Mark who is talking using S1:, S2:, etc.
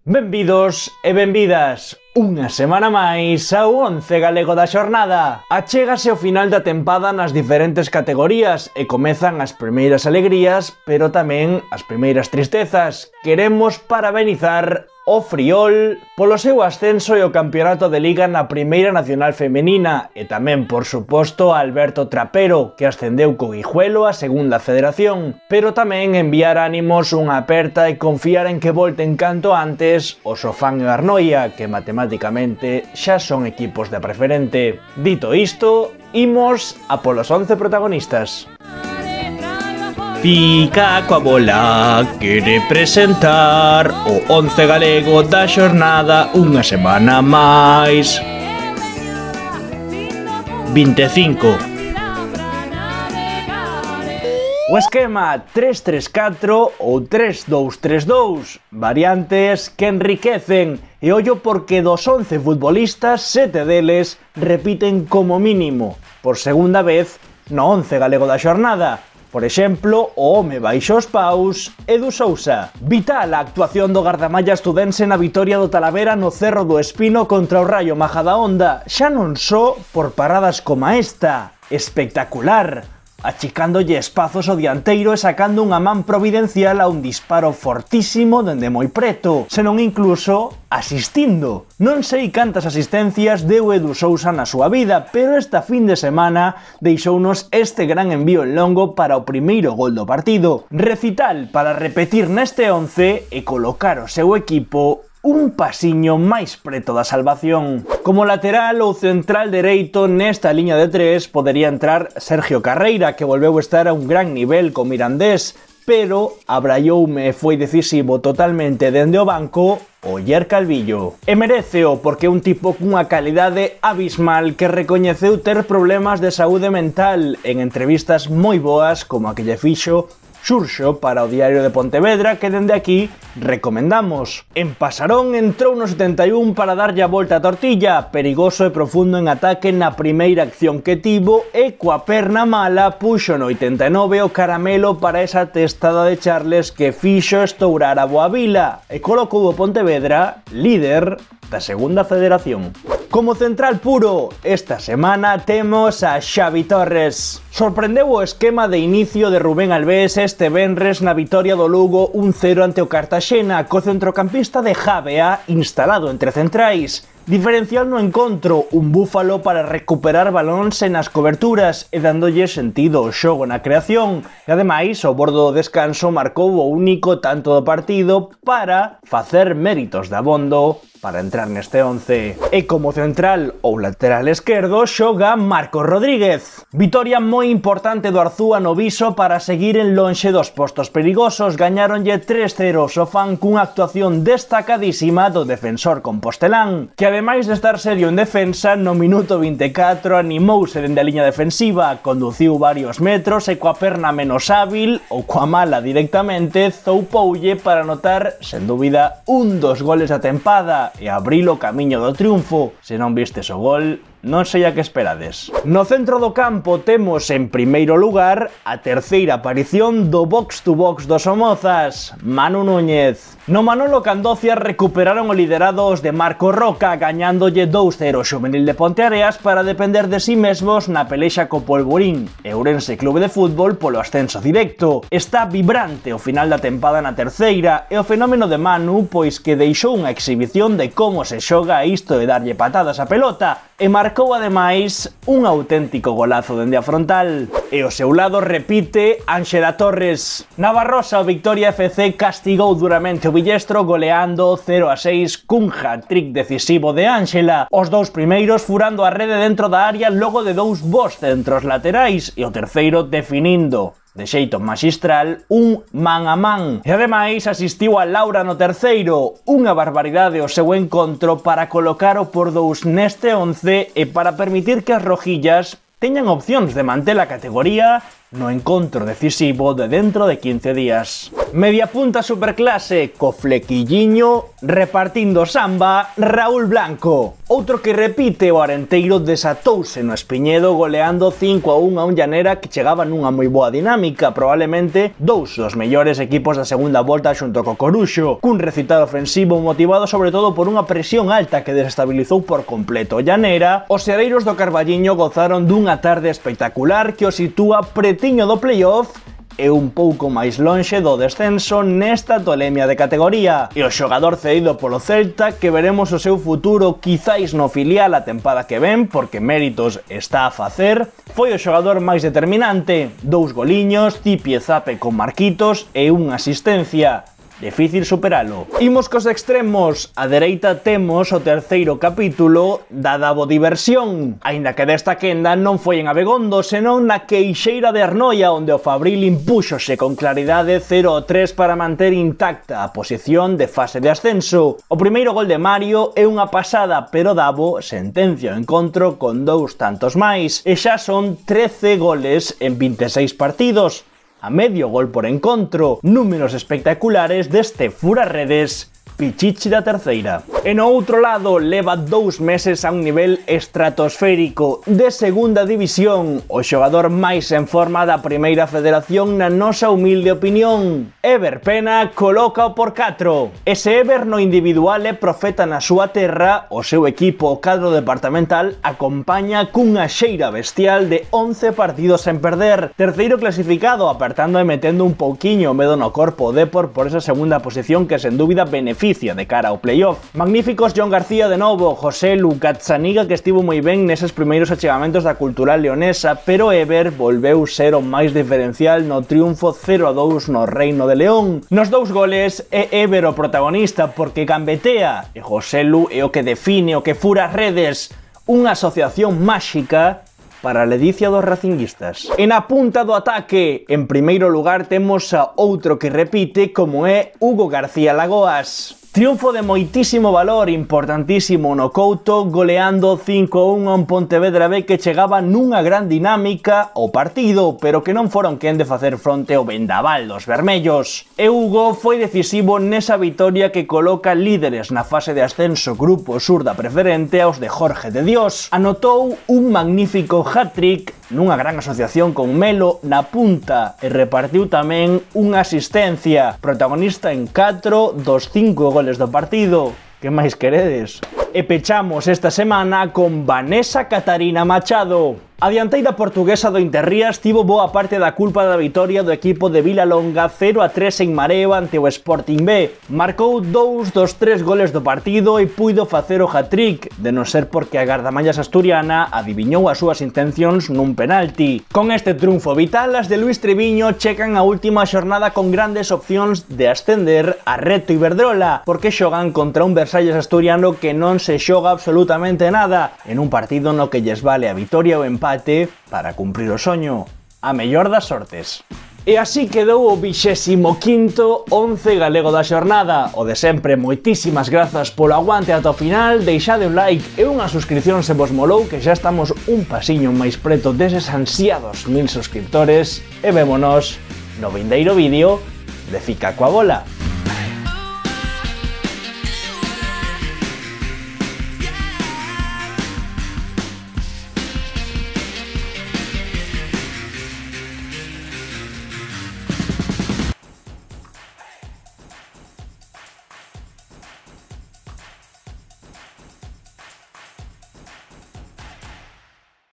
S1: Benvidos e benvidas unha semana máis ao 11 galego da xornada. Achégase o final da tempada nas diferentes categorías e comezan as primeiras alegrías, pero tamén as primeiras tristezas. Queremos parabenizar o Friol polo seu ascenso e o campeonato de Liga na Primeira Nacional Femenina e tamén, por suposto, a Alberto Trapero, que ascendeu co Guijuelo a Segunda Federación, pero tamén enviar ánimos, unha aperta e confiar en que volten canto antes o Sofán e o Arnoia, que matemáticamente xa son equipos de preferente. Dito isto, imos a polos 11 protagonistas. Pica coa bola, quere presentar o 11 galego da xornada unha semana máis. 25. O esquema 3-3-4 ou 3-2-3-2, variantes que enriquecen, e ollo porque dos 11 futbolistas, 7 deles repiten como mínimo, por segunda vez, no 11 galego da xornada. Por exemplo, o home baixo os paus, Edu Sousa. Vital a actuación do gardamalla estudense na vitoria do Talavera no Cerro do Espino contra o Raio Majadahonda, xa non só por paradas como esta. Espectacular! Achicándolle espazos ao dianteiro e sacando unha man providencial a un disparo fortísimo dende moi preto, senón incluso asistindo. Non sei cantas asistencias deu Edu Sousa na súa vida, pero esta fin de semana deixounos este gran envío en longo para o primeiro gol do partido. Recital para repetir neste 11 e colocar o seu equipo un pasiño máis preto da salvación. Como lateral ou central dereito nesta liña de tres podería entrar Sergio Carreira, que volveu estar a un gran nivel co Mirandés, pero abraioume e foi decisivo totalmente dende o banco Oller Calvillo. E meréceo porque é un tipo cunha calidade abismal que recoñeceu ter problemas de saúde mental en entrevistas moi boas como a que lle fixo Xurxo para o Diario de Pontevedra, que dende aquí recomendamos. En Pasarón entrou no 71 para darlle a volta a tortilla, perigoso e profundo en ataque na primeira acción que tivo e coa perna mala puxo no 89 o caramelo para esa testada de Charles que fixo estourar a Boavila e colocou o Pontevedra líder da Segunda Federación. Como central puro, esta semana temos a Xavi Torres. Sorprendeu o esquema de inicio de Rubén Albés este venres na vitoria do Lugo 1-0 ante o Cartaxena, co centrocampista de Javea instalado entre centrais. Diferencial no encontro, un búfalo para recuperar balóns e nas coberturas e dándolle sentido ao xogo na creación. E ademais, ao bordo do descanso marcou o único tanto do partido para facer méritos de abondo para entrar neste 11. E como central ou lateral esquerdo xoga Marcos Rodríguez. Vitoria moi importante do Arzúa no Viso para seguir en lonxe dos postos perigosos. Gañáronlle 3-0 o Sofán cunha actuación destacadísima do defensor compostelán, que ademais de estar serio en defensa, no minuto 24 animouse dende a liña defensiva, conduciu varios metros e coa perna menos hábil ou coa mala directamente zoupoulle para anotar, sen dúbida, un dos goles da tempada e abrir o camiño do triunfo. Se non vistes o gol, non sei a que esperades. No centro do campo temos en primeiro lugar a terceira aparición do box to box dos Somozas, Manu Núñez. No Manolo Candocia recuperaron o liderado os de Marco Roca, gañándolle 2-0 o Xuvenil de Ponteareas para depender de si mesmos na pelexa co Polvorín e Ourense Clube de Fútbol polo ascenso directo. Está vibrante o final da tempada na terceira e o fenómeno de Manu, pois que deixou unha exhibición de como se xoga isto de darlle patadas á pelota e marcou ademais un auténtico golazo dende a frontal. E ao seu lado repite Ánxela Torres. Na Barrosa o Victoria FC castigou duramente o Villestro goleando 0-6 cun hat-trick decisivo de Ánxela. Os dous primeiros furando a rede dentro da área logo de dous bons centros laterais e o terceiro definindo de xeito maxistral un man a man. E ademais asistiu a Laura no terceiro, unha barbaridade o seu encontro para colocar o por dous neste 11 e para permitir que as rojillas teñan opcións de manter a categoría no encontro decisivo de dentro de 15 días. Media punta superclase, co flequilliño, repartindo samba, Raúl Blanco. Outro que repite, o Arenteiro desatouse no Espiñedo goleando 5-1 a un Llanera que chegaba nunha moi boa dinámica, probablemente dous dos mellores equipos da segunda volta xunto co Coruxo, cun recital ofensivo motivado sobre todo por unha presión alta que desestabilizou por completo o Llanera. Os sereiros do Carballiño gozaron dunha tarde espectacular que o sitúa pretiño do playoff e un pouco máis lonxe do descenso nesta tolemia de categoría. E o xogador cedido polo Celta, que veremos o seu futuro quizáis no filial a tempada que ven, porque méritos está a facer, foi o xogador máis determinante. 2 goliños, zipi-zape con Marquitos e unha asistencia. Difícil superalo. Imos cos extremos. A dereita temos o terceiro capítulo da Davo Diversión. Aínda que desta quenda non foi en Abegondo, senón na Queixeira de Arnoia, onde o Fabril impúxose con claridade 0-3 para manter intacta a posición de fase de ascenso. O primeiro gol de Mario é unha pasada, pero Davo sentencia o encontro con 2 tantos máis. E xa son 13 goles en 26 partidos. A medio gol por encontro, números espectaculares deste fura-redes Pichichi da terceira. E no outro lado, leva 2 meses a un nivel estratosférico de segunda división, o xogador máis en forma da primeira federación na nosa humilde opinión. Ever Pena coloca o por 4. Ese Ever no individual é profeta na súa terra, o seu equipo, o cadro departamental, acompaña cunha xeira bestial de 11 partidos sen perder. Terceiro clasificado, apertando e metendo un pouquiño o medo no corpo o Depor por esa segunda posición que sen dúbida beneficia de cara ao playoff. Magníficos John García de novo, José Lucatzaniga que estivo moi ben neses primeiros achegamentos da cultural leonesa, pero Ever volveu ser o máis diferencial no triunfo 0-2 no Reino de León. Nos 2 goles é Ever o protagonista porque gambetea e José Lu é o que define, o que fura redes, unha asociación máxica para a ledicia dos racinguistas. E na punta do ataque, en primeiro lugar temos a outro que repite como é Hugo García Lagoas. Triunfo de moitísimo valor, importantísimo no Couto, goleando 5-1 a un Pontevedra B que chegaba nunha gran dinámica ao partido, pero que non foron quen de facer fronte ao vendaval dos vermellos. E Hugo foi decisivo nesa vitoria que coloca líderes na fase de ascenso Grupo Sur da Preferente aos de Jorge de Dios. Anotou un magnífico hat-trick nunha gran asociación con Melo na punta e repartiu tamén unha asistencia, protagonista en 4 dos 5 goles do partido. Que máis queredes? E pechamos esta semana con Vanessa Catarina Machado. A dianteira portuguesa do Interrías tivo boa parte da culpa da vitoria do equipo de Vilalonga 0-3 en Mareo ante o Sporting B. Marcou 2 dos 3 goles do partido e puido facer o hat-trick, de non ser porque a gardamallas asturiana adiviñou as súas intencións nun penalti. Con este triunfo vital, as de Luis Triviño checan a última xornada con grandes opcións de ascender a Reto Iberdrola, porque xogan contra un Versalles asturiano que non se xoga absolutamente nada, en un partido no que lles vale a vitoria ou empate para cumprir o soño. A mellor das sortes. E así quedou o 25º 11 galego da xornada. O de sempre, moitísimas grazas polo aguante ata o final, deixade un like e unha suscripción se vos molou, que xa estamos un pasiño máis preto deses ansiados 1000 suscriptores, e vémonos no vindeiro vídeo de Fica coa Bola.